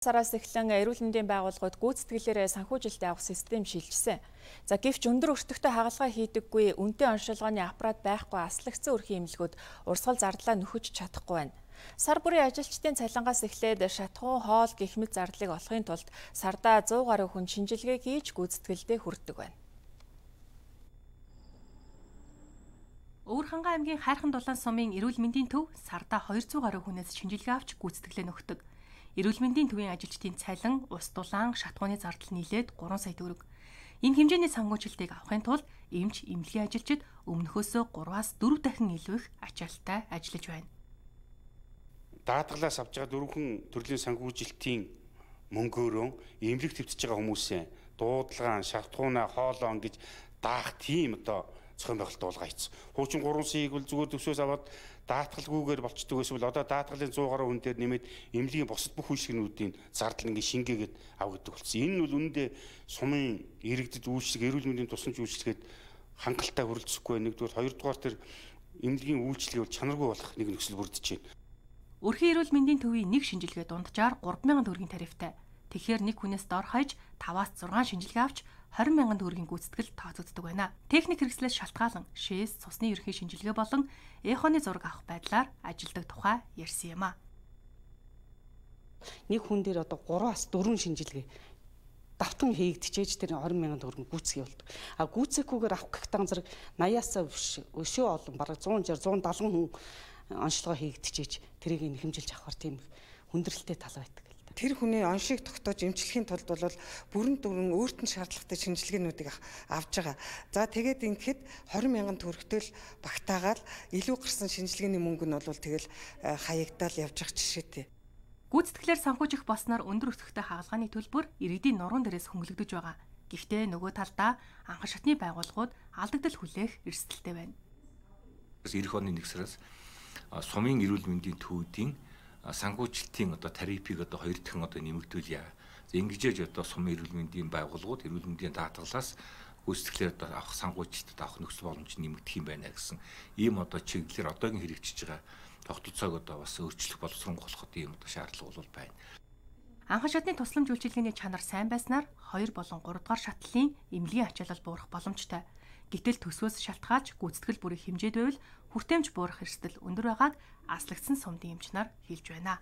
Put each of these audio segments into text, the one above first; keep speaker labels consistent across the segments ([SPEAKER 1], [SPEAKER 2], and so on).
[SPEAKER 1] Сараас эхлэн эрүүл мэндийн байгууллагууд гүйцэтгэлээрээ санхүүжилттэй авах систем шилжсэн. За гэвч өндөр өртөгтэй хагалгаа хийдэггүй үнэтэй оншилгооны аппарат байхгүй аслагдсан өрхийн эмнэлгүүд урсгал зардлаа нөхөж чадахгүй байна. Сар бүрийн ажилчдын цалингаас эхлээд шатхуун хоол гэх мэт зардлыг олохын тулд сардаа 100 гаруй хүн шинжилгээ хийж гүйцэтгэлдээ хүрдэг байна.
[SPEAKER 2] Өвөрхангай аймгийн Хайрхан дулаан сумын эрүүл мэндийн төв сардаа 200 гаруй хүнээс шинжилгээ авч гүйцэтгэлээ нөхдөг. Эрүүл мэндийн төвийн ажилчдын цалин, ус дулаан, шатхууны зардал нийлээд 3 сая төгрөг. Энэ хэмжээний санхүүжилтийг авахын тулд эмч, эмнэлгийн ажилчид өмнөхөөсөө 3-аас 4 дахин илүү их ачаалттай ажиллаж байна.
[SPEAKER 3] Даатгалаас авж байгаа дөрвөн төрлийн санхүүжилтийн мөнгөөрөө эмнэлэг твтж байгаа хүмүүсээ дуудлагаан, шатхуунаа, хоолоон гэж даах тийм зохион байгуулалт болгоо хийсэн. Хуучин 3 саяг бол зүгээр төсвөөс аваад даатгалгүйгээр болчдөг эсвэл одоо даатгалын 100 гаруй хүн дээр нэмээд эмнэлгийн бусад бүх үйлчилгээнүүдийн зардал ингээ шингээгээд авдаг болсон. Энэ нь бол үнэндээ сумын иргэдэд үйлчлэг, эрүүл мэндийн тусламж үйлчлэгээд хангалттай хүрэлцэхгүй. Нэгдүгээр, хоёрдугаар тэр эмнэлгийн үйлчлэгээ бол чанаргүй болох нэг нөхцөл бүрдэж байна.
[SPEAKER 2] Өрхийн эрүүл мэндийн төвийн нэг шинжилгээ дунджаар 3,000 төгрөгийн тарифтай. Тэгэхээр нэг хүнээс дор хаяж 5-аас 6 шинжилгээ авч 20,000 төгрөгийн гүйцэтгэл тооцогддог байна. Техник хэрэгслээс шалтгаалan шээс, цусны ерөнхий шинжилгээ болон эхоны зураг авах байдлаар ажилдаг тухай ярьсан юм а.
[SPEAKER 4] Нэг хүн дээр одоо 3-аас 4 шинжилгээ давтан хийгдчихэж тэр 20,000 төгрөг гүйцэтгэе болдог. А гүйцэхгүйгээр авах гихтан зэрэг 80-аас өшөө олон бараг 160, 170 хүн онцлогоо хийгдчихэж тэрийг нөхөмжилж авахар тийм хүндрэлтэй тал байдаг.
[SPEAKER 5] Тэр хүний оншийг тогтоож эмчлэхийн тулд бол бүрэн дүрэн өөртөө шаардлагатай шинжилгээнүүдийг авж байгаа. За тэгээд ингэхэд 20,000 төгрөгтэй л багтаагаад илүү гарсан шинжилгээний мөнгө нь бол тэгэл хаягдаал явж байгаа жишээтэй.
[SPEAKER 2] Гүйцэтгэлээр санхүүжих болсноор өндөр өртөгтэй хагалгааны төлбөр иргэдийн нуруунд дээрээс хөнгөлөгдөж байгаа. Гэхдээ нөгөө талдаа анхан шатны байгууллагууд алдагдал хүлээх эрсдэлтэй байна.
[SPEAKER 6] Эх оны 1 сараас сумын эрүүл мэндийн төвүүдийн санхүүжилтийн тарифыг 2 дахин нэмэгдүүлье. Ингэж сумын эрүүл мэндийн байгууллагууд эрүүл мэндийн даатгалаас гүйцэтгэлээр авах санхүүжилтад авах нөхцөл боломж нэмэгдэх юм байна гэсэн ийм чиглэлээр одоогийн хэрэгжиж байгаа тогтолцоог бас өөрчлөх боловсронгойлоход ийм шаардлага бол байна.
[SPEAKER 2] Анхан шатны тусламж үйлчилгээний чанар сайн байснаар 2 болон 3 дугаар шатлалын эмнэлгийн ачаалал буурах боломжтой. Гэтэл төсвөөс шалтгаалж гүйцэтгэл бүрэх хэмжээд байвал хүртээмж буурах эрсдэл өндөр байгааг аслагдсан сумдын эмч нар хэлж байна.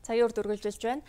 [SPEAKER 1] Цагийн үр дүргэлжилж байна.